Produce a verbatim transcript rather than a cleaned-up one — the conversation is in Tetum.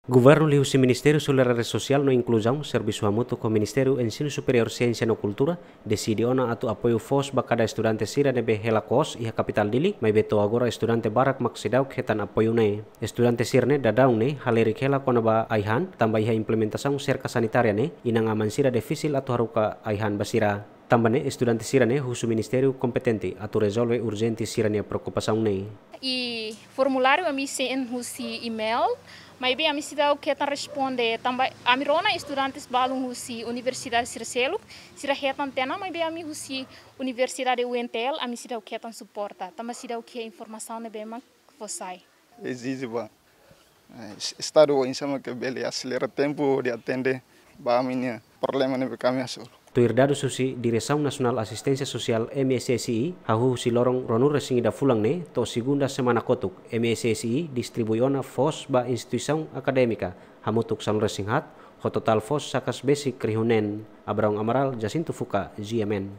Governu liuhusi Ministériu Solidariedade Sosiál no Inkluzaun servisu hamutuk ho Ministériu Ensinu Superiór, Siénsia no Kultura deside ona atu apoiu foos ba kada estudante sira ne'ebé hela kos iha kapitál Dili, maibé to'o agora estudante barak mak seidauk hetan apoiu ne'e. Estudante sira-ne'e daudaun ne'e halerik hela kona-ba ai-han, tanba iha implementasaun serka sanitária ne'e, inan-aman sira difisil atu haruka ai-han ba sira. Tanba ne'e estudante sira-ne'e husu ministériu kompetente atu rezolve urjente sira-nia preokupasaun ne'e. I formuláriu ami send husi email, maibé ami seidauk hetan responde, tanba ami rona estudantes balun husi universidade sira seluk, sira hetan tiha ona, maibé ami husi Universidade U N T L, ami seidauk hetan suporta, tanba seidauk iha informasaun ne'ebé mak fó sai. Ezije ba, eh, es-, Estadu oinsá mak bele aselera tempu hodi atende ba ami-nia problema ne'ebé ami hasoru. Tuir dadus husi Diresaun Nasionál Asisténsia Sosiál, M S S I, hahú husi loron ruanulu-resin-ida fulan ne'e to'o segunda semana kotuk, M S S I distribui ona foos ba instituisaun akadémika hamutuk sanulu-resin-haat, ho totál foos sakas besik rihun neen. Abraão Amaral, Jacinto Fuca, G M N.